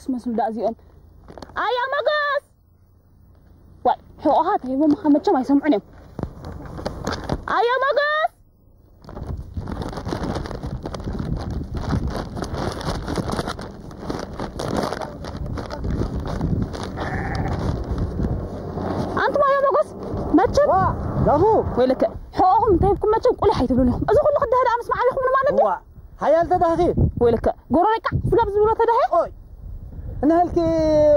ስመስሉ ዳ እዚኦም። ኣያ መጎስ! ዋይ፣ ሕቆኻ ተሂቦም መቸም ኣይሰምዑን እዮም። ኣያ መጎስ! ኣንቱም ኣያ መጎስ! መቸም ዋ፣ ዛፉ! ወይለከ፣ ሕቆኹም እንተሂብኩም መቸም ቁሊሕ ኣይትብሉን ኢኹም። እዚ ኩሉ ክድህድ ምስ መዓቢኹም ማለት ድዩ? ዋ፣ ሓያል ተዳኺ። ወይለከ፣ ጎረሬ ቃዕ ስጋብ ዝብሎ ተዳሂ። ኦይ፣ ንህልኪ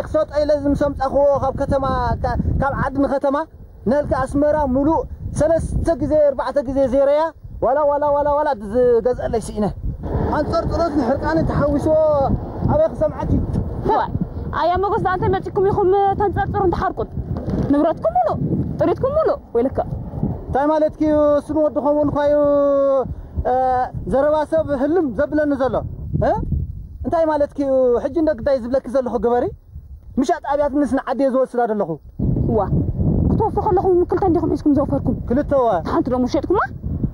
ክሰጦ ኢለ ዝምሰምጻኽዎ ካብ ከተማ፣ ካ-፣ ካብ ዓዲ ንከተማ፣ ንህልኪ ኣስመራ ሙሉእ ሰለስተ ግዜ፣ ኣርባዕተ ግዜ ዜረያ፣ ዋላ፣ ዋላ፣ ዋላ፣ ዋላ ዝገዝአለይ ስኢነ። ኣንጸርጽሮት ንሕርቃኒ ተሓዊስዎ ኣበይ ክሰምዓኪ? ዋይ፣ ኣያ መጎስ፣ ደኣ እንታይ መጺኩም ኢኹም ተንጸርጽሩ እንተሓርቁት? ንብረትኩም ሙሉእ፣ ጥሪትኩም ሙሉእ። ወይለከ። እንታይ ማለትኪ እዩ? ስም ወዲ ከምኡ እንኳ እዩ፣ እ፣ ዘረባ ሰብ ህልም ዘብለኒ ዘሎ። እ? እንታይ ማለትኪ እዩ? ሕጂ እንደ ግዳይ ዝብለኪ ዘለኹ ግበሪ። ምሻጥ ኣብያት ምስ ንዓዲ እየ ዝወስዳ ዘለኹ። ዋ። ክትወፉ ከለኹም ክልተ እንዲኹም ሒዝኩም ዘውፈርኩም? ክልተ ወ። ሓንቲ ደሞ ሸጥኩማ?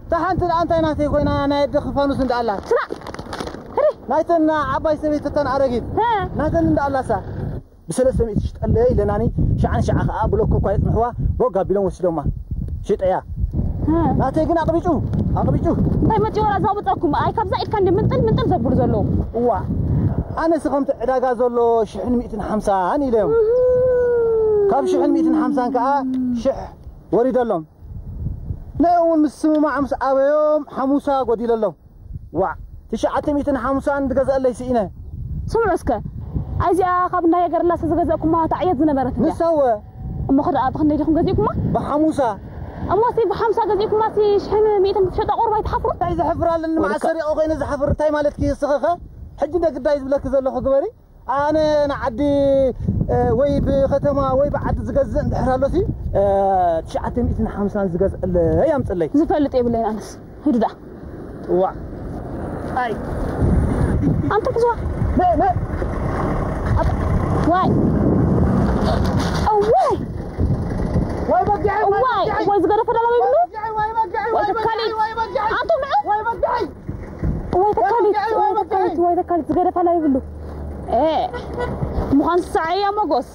እታ ሓንቲ ደኣ እንታይ ናተይ ኮይና ናይ ኣደ ክፋኑስ እንዳ ኣላ? ስማዕ። ህሪ። ናይተን ዓባይ ሰበይቲ እተን ኣረጊት። እ። ናተን እንዳ ኣላሳ። ብሰለስተ ሚእቲ ሽጠለ ኢለናኒ፣ ሸዓ ንሸዓ ኸዓ ብሎኮ እኳ የጽንሕዋ፣ ቦግ ኣቢሎም ወሲዶማ። ሽጠያ። እ። ናተይ ግን ኣቕቢጩ፣ ኣቕቢጩ። እንታይ መጺኡ ወላ ዘቕብጸኩም? ኣይ፣ ካብዛ ኢድካ እንዲ ምንጥል ምንጥል ዘብሉ ዘለዉ። እዋ፣ ኣነስ ከምቲ ዕዳጋ ዘሎ ሽሕን ሚእትን ሓምሳን ኢለዮም። እህ። ካብ ሽሕን ሚእትን ሓምሳን ከኣ ሽሕ ወሪደሎም። ንዕኡ እውን ምስ ስምማዕ ምስ ኣበዮም ሓሙሳ ጎዲለሎም። ዋዕ፣ ትሽዓተ ሚእትን ሓምሳን ዝገዝአለይ ስኢነ። ስምዑ እስከ፣ ኣይዚኣ ካብ ናይ ገርላስ ዝገዛእኩማ እታ ዕየት ዝነበረት እንድያ። ንሳ እወ። እሞ ኸ ደኣ ብኽንደይ ዲኹም ገዚእኩማ? ብሓሙሳ። እሞ እስቲ ብሓምሳ ገዚእኩማ፣ እስቲ ሽሕን ሚእትን ክትሸጣ ቁሩብ ኣይትሓፍሩ? እንታይ ዘሕፍር ኣለኒ? ወልከ- መዓስ ሰሪቐ ኮይነ ዝሓፍር? እንታይ ማለትኪ እስኺ ኸ? ሕጂ እንደ ግዳይ ዝብለኪ ዘለኹ ግበሪ። ኣነ ንዓዲ፣ እ፣ ወይ ብኸተማ ወይ ብዓዲ ዝገዝእ እንድሕር ኣሎሲ፣ እ፣ ትሽዓተ ሚእትን ሓምሳን ዝገዝአለይ ኣምጽለይ። ዝፈልጥ የብለይን ኣነስ። ሂዱ ደኣ። ዋዕ። ኣይ። ኣንተ ብዙዋ። ነ፣ ነ። ኣት-፣ ዋይ። እዋይ። ዋይ በጊዐይ፣ ዋይ እዋይ፣ በጊዐይ። እዋይ ዝገደፈ ደላ ይብሉ? ዋይ በጊዐይ፣ ዋይ በጊዐይ፣ ዋይ በጊዐይ፣ ዋይ በጊዐይ። ኣንተ ምዑ? ዋይ በጊዐይ። እዋይ ተካሊት፣ ዋይ በጊዐይ፣ እዋይ ዋይ በጊዐይ። ተካሊት፣ እዋይ ተካሊት ዝገደፈ ደላ ይብሉ? ኤ። ምዃን ሰዓያ መጎስ።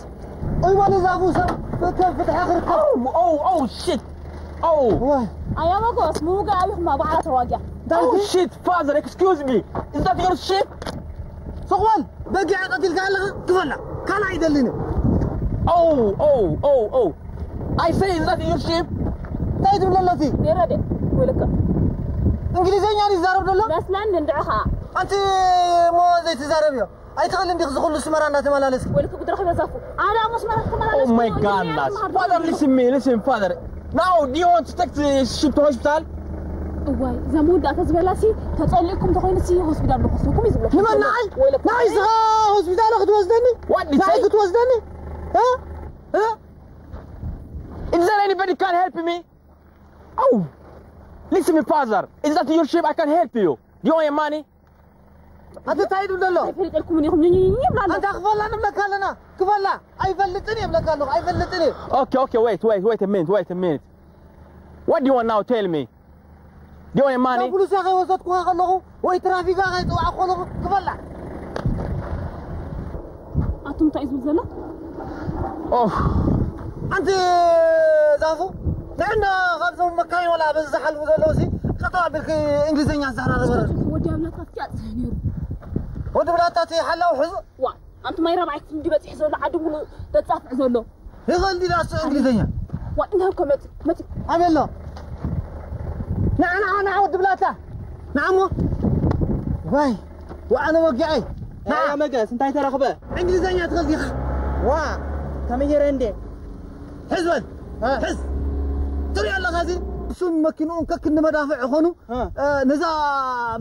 እዋን ዛፉ ሰብ ፍትሒ፣ ፍትሒ ክርከብ። Oh, oh, oh, shit. Oh. ዋይ። ኣያ መጎስ፣ ምውጋእ ኣቢኹማ ባዕላ ተዋጊኣ። እንታይ Oh, ኢልኪ? Shit, father, excuse me. Is that your sheep? ስቕ በል፣ በጊዕ ቀቲልካ ኣለኻ፣ ክፈላ። ካልእ ኣይደልን እዩ። Oh, oh, oh, oh. I say, is that your sheep? እንታይ ትብል ኣሎ እቲ? የረደ፣ ወይለካ። እንግሊዝኛ ድዩ ዝዛረብ ዘሎ? መስለን እንድዕኻ። ኣንቲ እሞ ዘይትዛረብ እዮ። ኣይትኽእል እንዲኽ ዝኹሉ ስመራ እንዳተመላለስ። ወይለካ ጉድረኽ በዛፉ። ኣነ ኣብ መስመር ተመላለስ። Oh my God, Nas. Father, listen me, listen, father. Now, do you want to take the sheep to hospital? እዋይ፣ እዛ መወዳእታ ዝበላሲ ተጸሊእኩም ተኾይኑሲ ሆስፒታል ልወስደኩም እዩ ዝብለኩም። ንመን ንዓይ? ወይለካ። ንዓይ ስኻ ሆስፒታል ክትወስደኒ? What did you ንዓይ say? ክትወስደኒ? እ? እ? Is there anybody can help me? Oh, listen me, father. Is that your sheep? I can help you. Do you want your money? ኣቲ እንታይ ኢሉ ዘሎ? ኣይፈልጠልኩምን ኢኹም፣ ኝኝኝ ይብላ ኣሎ። ኣንታ ክፈላ ንብለካ ኣለና። ክፈላ። ኣይፈልጥን እየ እብለካ ኣለኹ። ኣይፈልጥን እየ። Okay, okay, wait, wait, wait a minute, wait a minute. What do you want now? Tell me. Do you want your money? ፖሊስ ከይወሰድኩኻ ከለኹ ወይ ትራፊካ ከይፅዋዕኩ ከለኹ ክፈላ። ኣቱም እንታይ እዩ ዝብል ዘሎ? Oh. ኣንቲ ዛፉ፣ ንዕና ካብዞም መካይን ወላ በዚ ዝሓልፉ ዘለዉ ሲ፣ ጠጠው ኣቢልኪ እንግሊዝኛ ዝዛራረበ። ወዲ ኣብላታ ፍትያ ጽሕ ነይሩ። ወዲ ብላታ እቲ ሓላው ሕዙ። ዋ፣ ኣንቱም ኣይ ራብዓይ ክፍሊ ድዩ በጺሑ ዘሎ፣ ዓዲ ሙሉእ ተጻፍዕ ዘሎ። ይኽእል ድዩ ዳሱ እንግሊዝኛ? ዋ፣ እንሆ እኮ መጺ፣ መጺ። ኣበሎ። ንዓ፣ ንዓ፣ ንዓ፣ ወዲ ብላታ። ንዓ እሞ። ዋይ፣ ወዓለ ወጊዐይ። ንዓ። ኣያ መገስ፣ እንታይ ተረኽበ? እንግሊዝኛ ትኽእል ዲኻ? ዋ፣ ተመየረ እንዴ? ሕዝ በል። እ። ሕዝ። ትሪኦ ኣለኻ እዚ? እሱን መኪንኡን ከክንዲ መዳፍዕ ይኾኑ። እ። እ፣ ነዛ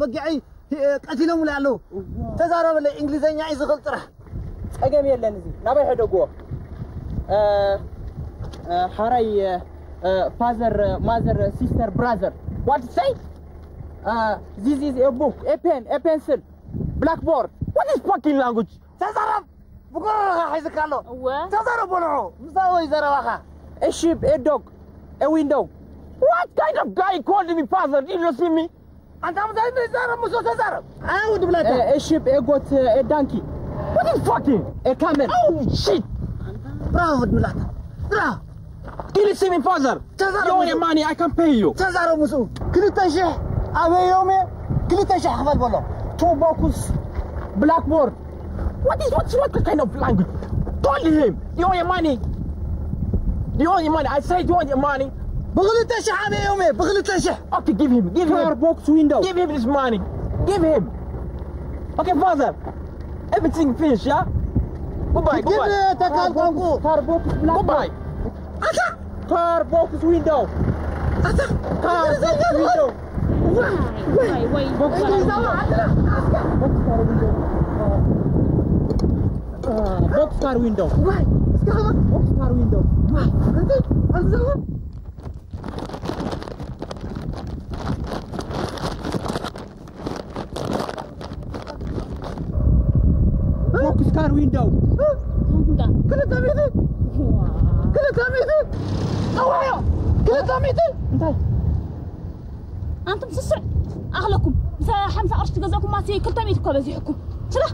በጊዐይ፣ እ፣ ቀቲሎምላ ኣለዉ። እዋ። ተዛረበለይ፣ እንግሊዝኛ እዩ ዝኽእል ጥራሕ። ጸገም የለን፣ እዚ ናበይ ሕደግዎ? እ፣ እ፣ ሓራይ፣ እ፣ እ፣ ፋዘር፣ ማዘር፣ ሲስተር፣ ብራዘር። What say? እ፣ this is a book, a pen, a pencil, blackboard. What is fucking language? ተዛረብ! ብጎረረኻ ሒዝካ ኣሎ። እወ። ተዛረብ በልዖ። ምሳወይ ዘረባኻ። A sheep, a dog, a window. What kind of guy called me father? Did you see me? ኣንታ ምሳይ ተዛረብ፣ ምስ ተዛረብ። ኣይ፣ ወዲ ብላታ። A, a sheep, a goat, a donkey. What is fucking? A camel. Oh shit! Bravo, Dmulata. Bravo. Can you see me, father? Father, You owe me Musa. Money, I can pay you. ተዛረቡ ምስኡ። ክልተ ሽሕ ኣበዮም እየ። ክልተ ሽሕ ክፈል በሎ። Two box blackboard. What is what what kind of language? Told him. You owe me money. You owe me money. I said you owe me money. ብክልተ ሽሕ ኣበዮም እየ። ብክልተ ሽሕ Okay, give him. Give Car him. Box window. Give him this money. Give him. Okay, father. Everything finished, yeah? Goodbye, ግን goodbye. ተካል ቋንቋ Car box black. Goodbye. ኣታ Car box window. ኣታ Car box window. Why? Why? Why? Box car window. Box car window. ዋይ እስከ ኸማ Box car window. ዋይ እንት ኣንዘው Box car window. ክልተ ሚእቲ ክልተ ሚእቲ ኣዋዮ ክልተ ሚእቲ እንታይ? ኣንቱም ስስዕ ኣኽለኩም ምስ ሓምሳ ቅርሺ ትገዛእኩም ማሲ ክልተ ሚእቲ እኮ በዚሕኩም ስራሕ